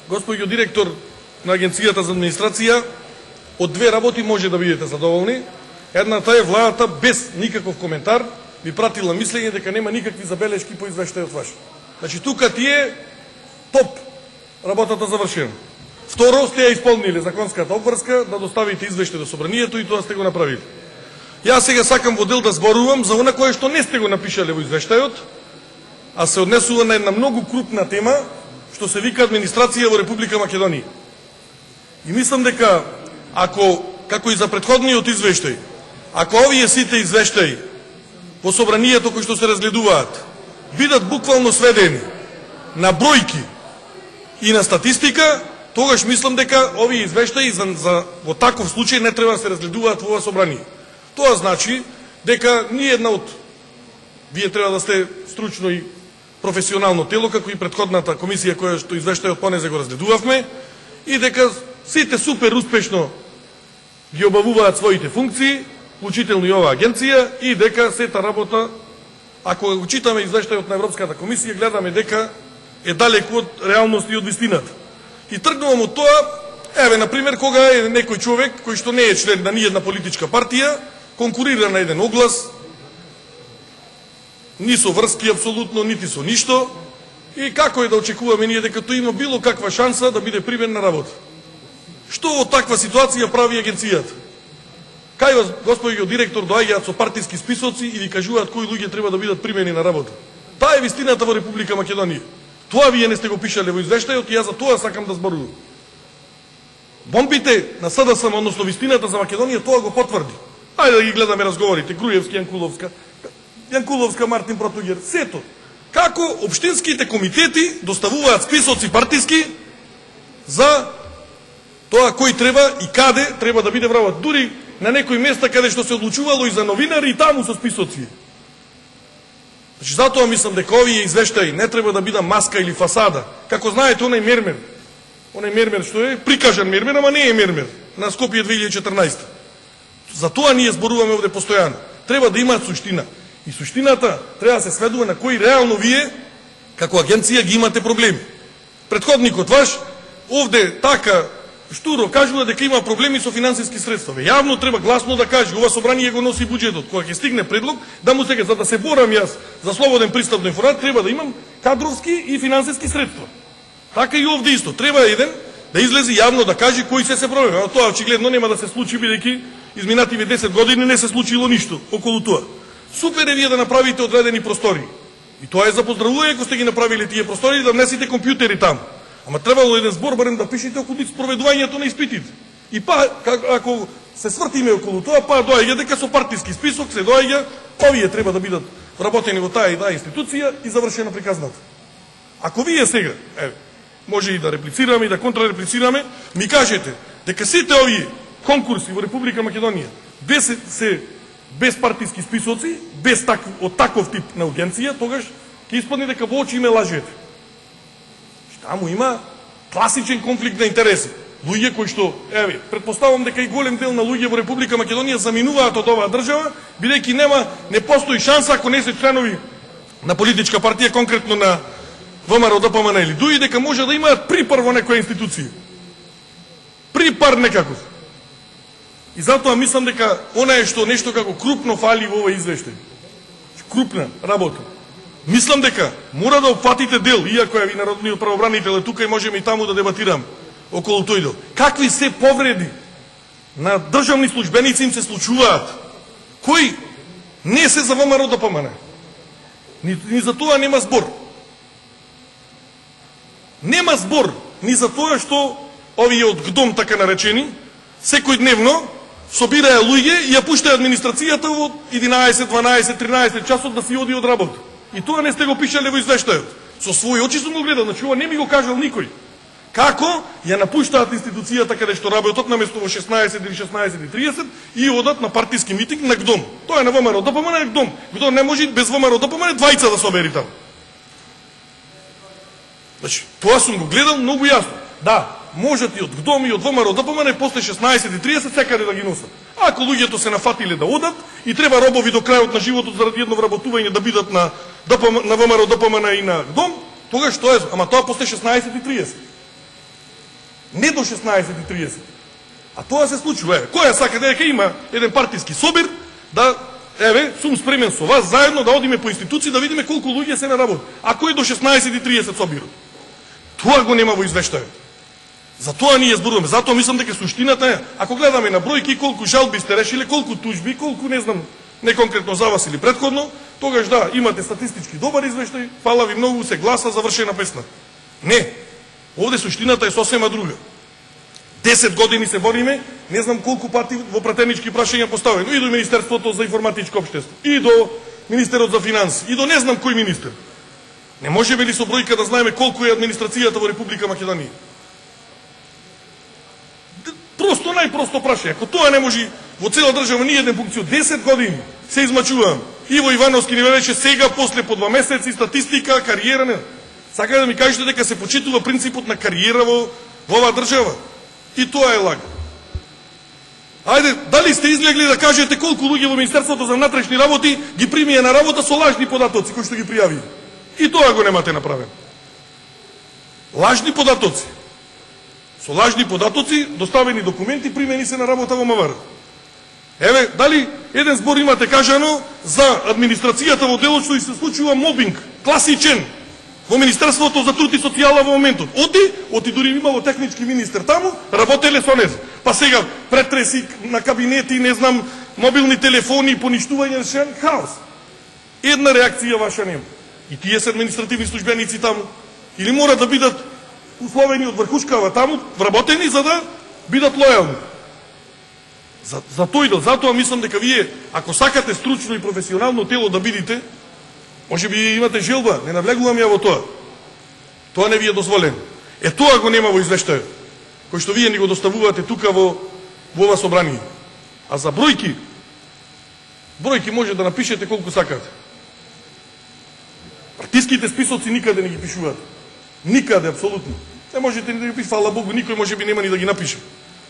Господјо директор на Агенцијата за администрација, од две работи може да бидете задоволни. Едната е владата без никаков коментар ви пратила мислење дека нема никакви забелешки по извештајот ваш. Значи тука ти е топ, работата завршена. Второ, сте ја исполнили законската обврска да доставите извештај до собранието и тоа сте го направили. Јас сега сакам во дел да зборувам за она кое што не сте го напишале во извештајот, а се однесува на една многу крупна тема, што се вика администрација во Република Македонија. И мислам дека, ако, како и за претходниот извештај, ако овие сите извештаи во собранието кои што се разгледуваат, бидат буквално сведени на бројки и на статистика, тогаш мислам дека овие извештаи во таков случај не треба да се разгледуваат во ова собрание. Тоа значи дека ниедна од вие треба да сте стручно и професионално тело, како и претходната комисија која што извештајот понезе го разгледувавме, и дека сите супер успешно ги обавуваат своите функции, вклучително и оваа агенција, и дека сета работа, ако го читаме извештајот на Европската комисија, гледаме дека е далеку од реалност и од вистината. И тргнувам од тоа, еве, например, кога е некој човек кој што не е член на ниедна политичка партија, конкурира на еден оглас, ни со врски апсолутно, нити со ништо, и како е да очекуваме ние дека тој има било каква шанса да биде примен на работа? Што од таква ситуација прави агенцијата? Кај вас, господјо директор, доаѓаат со партиски списоци и ви кажуваат кои луѓе треба да бидат примени на работа. Таа е вистината во Република Македонија. Тоа вие не сте го пишале во извештајот и јас за тоа сакам да зборувам. Бомбите на СДСМ, односно вистината за Македонија, тоа го потврди. Ајде да ги гледаме разговорите, Груевски, Јанкуловска, Мартин Протугер, сето. Како општинските комитети доставуваат списоци партиски за тоа кој треба и каде треба да биде вработен. Дури на некои места каде што се одлучувало и за новинари, и таму со списоци. Значи, затоа мислам дека овие извештаи не треба да биде маска или фасада. Како знаете, онај мермер што е, прикажан мермер, ама не е мермер, на Скопје 2014. За тоа ние зборуваме овде постојано. Треба да имаат суштина. И суштината треба да се сведува на кои реално вие, како агенција, ги имате проблеми. Претходникот ваш, овде така штуро кажува дека има проблеми со финансиски средства. Јавно треба гласно да каже, ова собрание го носи буџетот. Кога ќе стигне предлог, да му сега, за да се борам јас за слободен пристап до информација, треба да имам кадровски и финансиски средства. Така и овде исто. Треба еден да излезе јавно да каже кои се проблеми. А тоа очигледно нема да се случи, бидејќи изминативе 10 години не се случило ништо околу тоа. Супер е вие да направите одредени простори. И тоа е за поздравување ако сте ги направили тие простори, да внесите компјутери таму. Ама требало еден збор барем да пишете околу спроведувањето на испитите. И па, ако се свртиме околу тоа, па доаѓа дека со партиски список се доаѓа, овие треба да бидат вработени во таа и таа институција и завршена приказната. Ако вие сега, може и да реплицираме и да контрареплицираме, ми кажете дека сите овие конкурси во Република Македонија без партиски списоци, од таков тип на агенција, тогаш ќе испадне дека во очи име лажете. Таму има класичен конфликт на интереси. Луѓе кои што, претпоставам дека и голем дел на луѓе во Република Македонија заминуваат од оваа држава, бидејќи не постои шанса ако не се членови на политичка партија, конкретно на ВМРО ДПМН или ДУИ, дека може да имаат припар во некоја институција. Припар некаков. И затоа мислам дека она е што нешто како крупно фали во овој извештај. Крупна работа. Мислам дека мора да опфатите дел, иако е ви народниот правобранител тука и можеме и таму да дебатирам околу тој дел. Какви се повреди на државни службеници им се случуваат, кои не се за ВМРО ДПМН. Ни за тоа нема збор. Нема збор ни за тоа што овие од ГДОМ така наречени секој дневно собираа луѓе и ја пуштаа администрацијата во 11, 12, 13 часот да си оди од работа. И тоа не сте го пишале во извештајот. Со своји очи сум го гледал, значи ова не ми го кажал никој. Како ја напуштаат институцијата каде што работат наместо во 16 или 16:30 и одат на партиски митинг на ГДОМ. Тоа е на ВМРО ДПМН и ГДОМ. ГДОМ не може без ВМРО ДПМН двајца да собери таму. Значи, тоа сум го гледал многу јасно. Да, можат и од ГДОМ и од ВМРО ДПМН после 16:30 секаде да ги носат. Ако луѓето се нафатиле да одат и треба робови до крајот на животот заради едно вработување да бидат на ВМРО ДПМН и на ГДОМ, тогаш тоа е, ама тоа после 16:30. Не до 16:30. А тоа се случува. Која сака дека има еден партиски собир, да, сум спремен со вас заедно да одиме по институции да видиме колку луѓе се на работа. Ако е до 16:30 собирот. Тоа го нема во извештајот. Затоа ние зборуваме. Затоа мислам дека суштината е, ако гледаме на бројки колку жалби сте решиле, колку тужби, колку не знам, не конкретно за вас или претходно, тогаш да, имате статистички добар извештај, фала ви многу, се гласа, завршена песна. Не. Овде суштината е сосема друга. 10 години се бориме, не знам колку пати во пратенички прашања поставено, и до Министерството за информатичко општество, и до Министерот за финанси, и до не знам кој министер. Не можеме ли со бројка да знаеме колку е администрацијата во Република Македонија? Просто најпросто прашање. Ако тоа не може во цела држава ни еден функција, 10 години се измачувам. Иво Ивановски ни рече сега, после по 2 месеци, статистика, кариера, не. Сака да ми кажете дека се почитува принципот на кариера во оваа држава. И тоа е лаг. Ајде, дали сте излегли да кажете колку луѓе во Министерството за внатрешни работи ги примија на работа со лажни податоци кои што ги пријави? И тоа го немате направено. Лажни податоци. Со лажни податоци, доставени документи, примени се на работа во МВР. Дали еден збор имате кажано за администрацијата во делот што и се случува мобинг, класичен, во Министерството за труд и социјала во моментот. Оти дури имало технички министер таму, работеле со нез. Па сега претреси на кабинети, не знам, мобилни телефони, поништување, хаос. Една реакција ваша нема. И тие се административни службеници таму. Или мора да бидат условени од врхушкава таму, вработени за да бидат лојални. Затоа мислам дека вие, ако сакате стручно и професионално тело да бидите, може би имате желба, не навлегувам ја во тоа. Тоа не ви е дозволено. Тоа го нема во извештајот, кој што вие ни го доставувате тука во ова собрание. А за бројки може да напишете колку сакате. Партиските списоци никаде не ги пишуваат. Никаде, апсолутно. Не можете ни да ги пишете, фала Богу, никој може би нема ни да ги напише.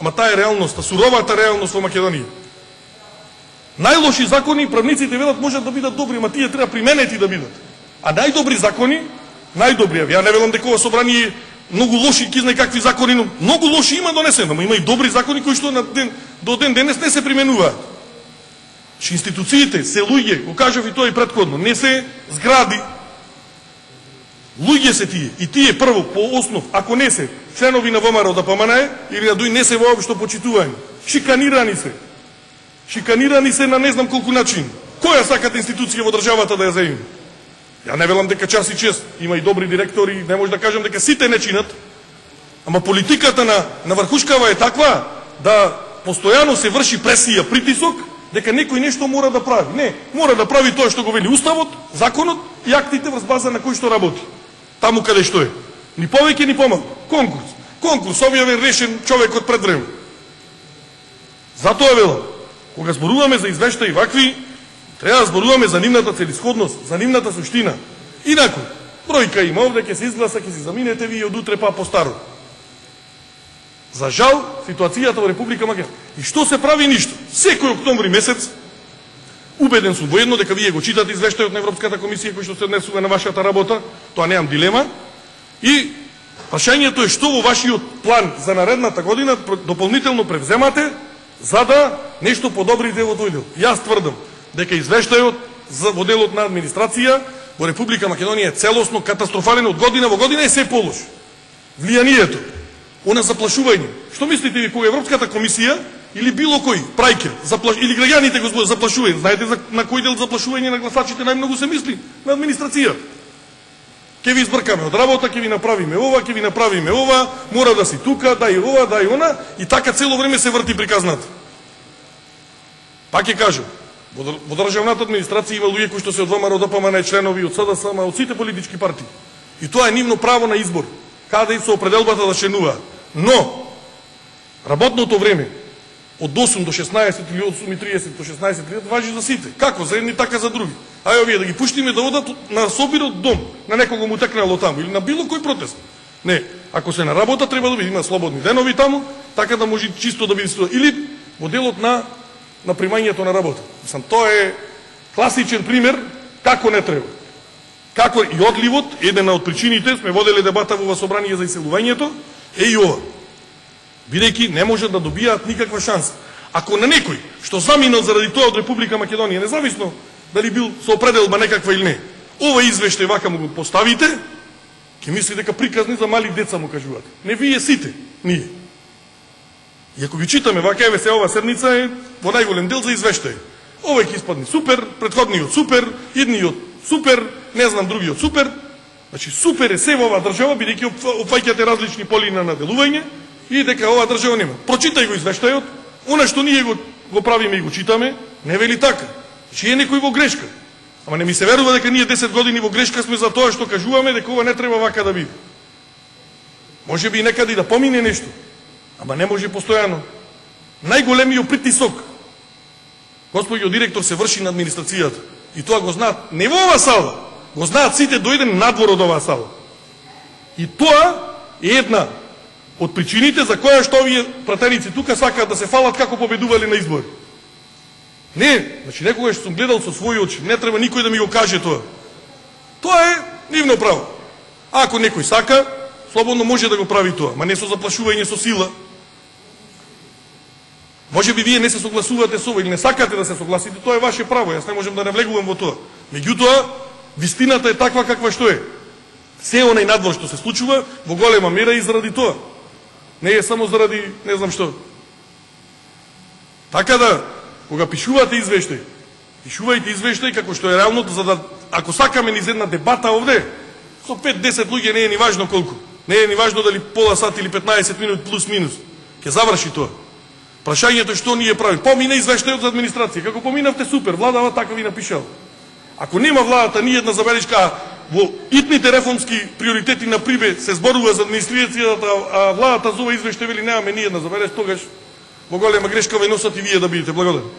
Ама таа е реалноста, суровата реалност во Македонија. Најлоши закони, правниците велат, можат да бидат добри, ама тие треба применети да бидат. А најдобри закони, ја не велам дека ова собрание многу лоши, ки знае какви закони, но многу лоши има донесено, ама има и добри закони кои што до ден денес не се применуваат. Институциите се луѓе, го кажав и тоа и претходно, не се згради. Луѓе се тие. И тие прво, по основ, ако не се членови на ВМРО да поманае, или на не се воопшто почитување. Шиканирани се на не знам колку начин. Која сакате институција во државата да ја заиме? Ја не велам дека час и чест, има и добри директори, не може да кажам дека сите не чинат, ама политиката на врхушкава е таква да постојано се врши пресија, притисок, дека некој нешто мора да прави. Не, мора да прави тоа што го вели уставот, законот и актите врз база на кои што работи. Таму каде што е. Ни повеќе, ни помалку. Конкурс, објавен, решен човекот пред време. Затоа велам, кога зборуваме за извештаи вакви, треба да зборуваме за нивната целисходност, за нивната суштина. Инаку, бројка има овде, ќе се изгласа, ќе се заминете ви и од утре па по старо. За жал, ситуацијата во Република Македонија. И што се прави? Ништо. Секој октомври месец, убеден сум воедно дека вие го читате извештајот на Европската комисија кој што се однесува на вашата работа, тоа немам дилема. И прашањето е што во вашиот план за наредната година дополнително превземате за да нешто подобрите во тој дел. Јас тврдам дека извештајот во делот на администрација во Република Македонија е целосно катастрофален, од година во година е се полош. Влијанието, она заплашување. Што мислите ви кога Европската комисија или било кој прајке, или граѓаните го заплашување? Знаете на кој дел заплашување на гласачите најмногу се мисли? На администрација. Ке ви избркаме од работа, ке ви направиме ова, мора да си тука, дај ова, дај она, и така цело време се врти приказната. Пак ќе кажам, во државната администрација има луѓе кои што се од ВМРО, ДПМН, членови од СДС, од сите политички партии. И тоа е нивно право на избор, каде со определбата да членуваат. Но, работното време, од 8 до 16 или од 8:30 до 16:30 важи за сите. Како? За едни, така за други. Ајде овие да ги пуштиме да одат на собирот дом, на некого му текнало таму, или на било кој протест. Не, ако се на работа треба да има слободни денови таму, така да може чисто да биде или во делот на примањето на работа. Мислам, тоа е класичен пример како не треба. Како и одливот, една од причините, сме воделе дебата во собрание за иселувањето, е и ова. бидејќи не може да добијаат никаква шанса. Ако на некој што заминал заради тоа од Република Македонија, независно дали бил со определба некаква или не, ова извештај вака му го поставите, ќе мисли дека приказни за мали деца му кажувате. Не вие сите, ние. И ако ги читаме вака, еве се ова седмица е во најголем дел за извештај. Овој ќе испадне супер, претходниот супер, едниот супер, не знам другиот супер. Значи супер е се во оваа држава, бидејќи опфаќате различни полина на делување и дека оваа држава нема. Прочитај го извештајот, она што ние го правиме и го читаме, не вели така. Значи е некој во грешка. Ама не ми се верува дека ние 10 години во грешка сме за тоа што кажуваме дека ова не треба вака да биде. Може би и некаде да помине нешто, ама не може постојано. Најголемиот притисок, господјо директор, се врши на администрацијата. И тоа го знаат не во оваа сала, го знаат сите дојден надвор од оваа сала. И тоа е една од причините за која што овие пратеници тука сакаат да се фалат како победувале на избори. Не, значи некогаш сум гледал со своји очи, не треба никој да ми го каже тоа. Тоа е нивно право. Ако некој сака, слободно може да го прави тоа, ма не со заплашување со сила. Може би вие не се согласувате со или не сакате да се согласите, тоа е ваше право, јас не можам да навлегувам во тоа. Меѓутоа, вистината е таква каква што е. Се онај надвор што се случува во голема мера и заради тоа. Не е само заради не знам што. Така да, кога пишувате извештај, пишувајте извештај како што е реално, за да, ако сакаме низ една дебата овде, со 5-10 луѓе не е ни важно колку. Не е ни важно дали пола сат или 15 минути плюс минус. Ќе заврши тоа. Прашањето што ние правиме. Помина извештајот за администрација. Како поминавте супер, владава така ви напишал. Ако нема владата ни една забелешка, во итните реформски приоритети на Прибе се зборува за администрацијата, а владата зова извештај вели немаме ни една забелешка, тогаш во голема грешка ве носат и вие да бидете. Благодарам.